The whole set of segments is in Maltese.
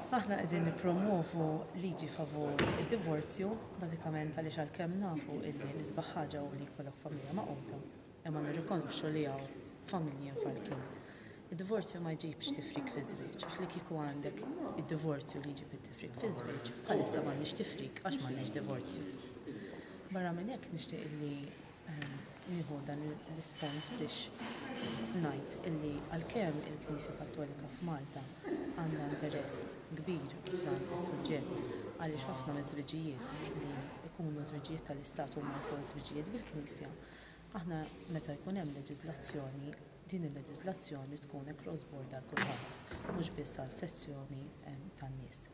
Aħna qegħdin nippromwovu liġi favur id-divorzju, bażikament għaliex għalkemm nafu illi l-isbaħ ħaġa hu li jkollok familja magħquda, imma nirrikonoxxu li hawn familji mfarrkin. Id-divorzju ma jġibx tifrik fiż-żwieġ, għax li kieku għandek id-divorzju li jġib it-tifrik fiż-żwieġ, bħalissa m'għandniex tifrik għax m'għandniex divorzju. Barra minn hekk nixtieq illi nieħu dan l-ispont biex ngħid illi għalkemm il-Knisja Kattolika f'Malta għandha interess kbir f'dan is-suġġett għaliex ħafna miż-żwiġijiet li jkunu żwiġijiet tal-Istat huma wkoll żwiġijiet bil-Knisja, aħna meta jkun hemm leġiżlazzjoni, din il-leġiżlazzjoni tkun across board għal kulħadd, mhux biss għal sezzjoni tan-nies.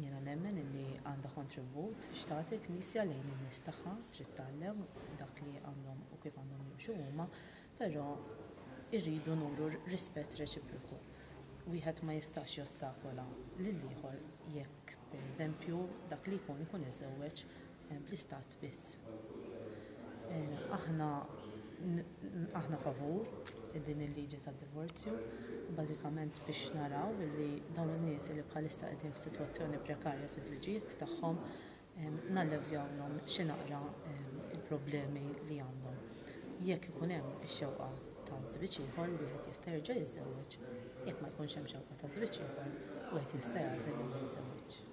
Jiena nemmen illi għandha kontribut x'tagħti l-Knisja lejn in-nies tagħha, trid tgħallem dak li għandhom u kif għandhom jimxu huma, però rridu nuru rispett reċiproku. Wieħed ma jistax jostakola lill-ieħor jekk, pereżempju, dak li jkun ikun iżżewweġ bl-istat biss. Aħna aħna favur din il-liġi tad-divorzju, bażikament biex naraw li dawn in-nies li bħalissa qegħdin f'sitwazzjoni prekarja fiż-żwiġijiet tagħhom nallevjawlhom xi naqra il-problemi li għandhom. Jekk ikun hemm ix-xewqa ta' żwieġ ieħor, wieħed jista' jerġa' jiżżewweġ, jekk ma jkunx hemm xewqa ta' żwieġ ieħor, wieħed jista' jagħżel li ma jiżżewweġx.